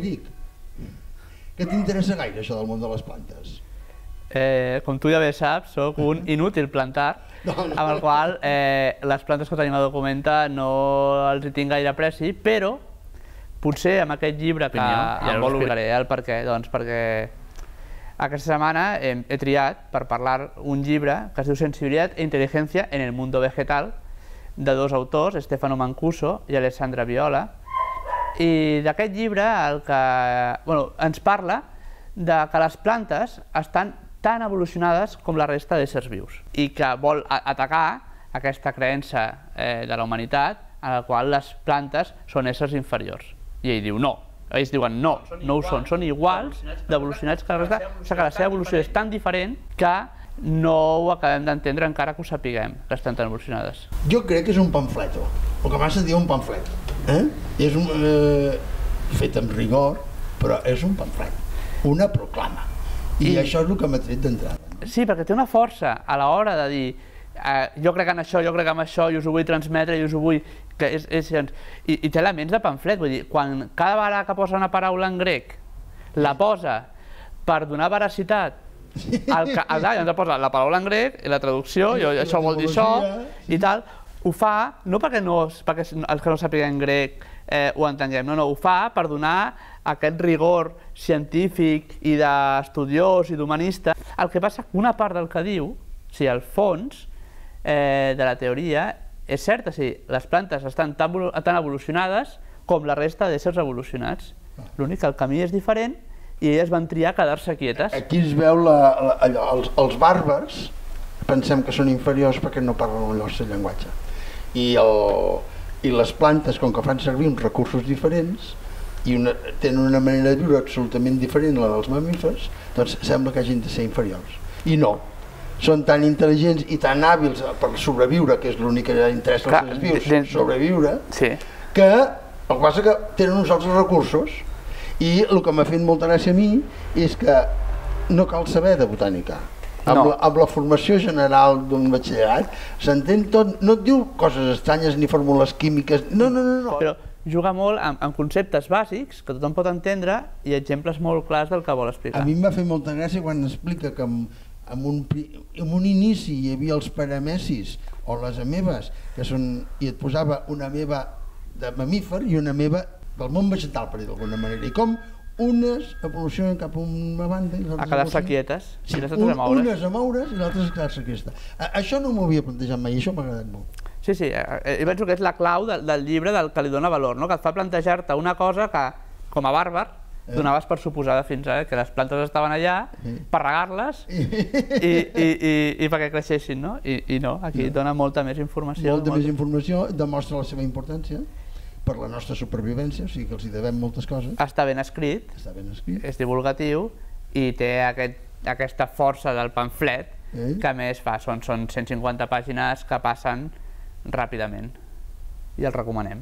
Eric, què t'interessa gaire això del món de les plantes? Com tu ja bé saps, soc un inútil plantar, amb el qual les plantes que tenim a Documenta no els hi tinc gaire apreci, però potser amb aquest llibre, que ja us explicaré el per què, doncs perquè aquesta setmana he triat per parlar un llibre que es diu Sensibilitat e Inteligencia en el Mundo Vegetal, de dos autors, Stefano Mancuso i Alessandra Viola, i d'aquest llibre ens parla que les plantes estan tan evolucionades com la resta d'éssers vius i que vol atacar aquesta creença de la humanitat en la qual les plantes són éssers inferiors. I ell diu no, ells diuen no, no ho són iguals d'evolucionats que la resta, o sigui que la seva evolució és tan diferent que no ho acabem d'entendre encara que ho sapiguem, que estan tan evolucionades. Jo crec que és un pamfleto, el que m'has dit un pamflet. És fet amb rigor, però és un pamflet, una proclama. I això és el que m'ha tret d'entrada. Sí, perquè té una força a l'hora de dir jo crec en això, jo crec en això, i us ho vull transmetre, i us ho vull... I té elements de pamflet, vull dir, quan cada vegada que posa una paraula en grec la posa per donar veracitat, ens posa la paraula en grec i la traducció, i això vol dir això, i tal, ho fa, no perquè els que no sàpiguen grec ho entenguem, no, ho fa per donar aquest rigor científic i d'estudiós i d'humanista. El que passa que una part del que diu, o sigui, el fons de la teoria, és cert, o sigui, les plantes estan tan evolucionades com la resta d'éssers evolucionats. L'únic que el camí és diferent i elles van triar quedar-se quietes. Aquí es veu els bàrbars, pensem que són inferiors perquè no parlen el nostre llenguatge. I les plantes, com que fan servir uns recursos diferents i tenen una manera de viure absolutament diferent a la dels mamífers, doncs sembla que hagin de ser inferiors. I no, són tan intel·ligents i tan hàbils per sobreviure, que és l'únic que interessa als seres vius, sobreviure, que el que passa que tenen uns altres recursos. I el que m'ha fet molta gràcia a mi és que no cal saber de botànica. Amb la formació general d'un batxillerat s'entén tot, no et diu coses estranyes ni fórmules químiques, no. Però juga molt amb conceptes bàsics que tothom pot entendre i exemples molt clars del que vol explicar. A mi m'ha fet molta gràcia quan explica que en un inici hi havia els paramecis o les amebes, i et posava una ameba de mamífer i una ameba del món vegetal, per dir d'alguna manera, i com unes evolucionen cap a una banda i a quedar-se quietes, i les altres a moure's. Unes a moure's i l'altres a quedar-se quietes. Això no m'ho havia plantejat mai, això m'ha agradat molt. Sí, jo penso que és la clau del llibre que li dona valor, que et fa plantejar-te una cosa que, com a bàrbar, donaves per suposada fins ara, que les plantes estaven allà per regar-les i perquè creixessin, i no, aquí dona molta més informació. Molta més informació, demostra la seva importància per la nostra supervivència, o sigui que els hi devem moltes coses. Està ben escrit, és divulgatiu i té aquesta força del pamflet que a més fa, són 150 pàgines que passen ràpidament i el recomanem.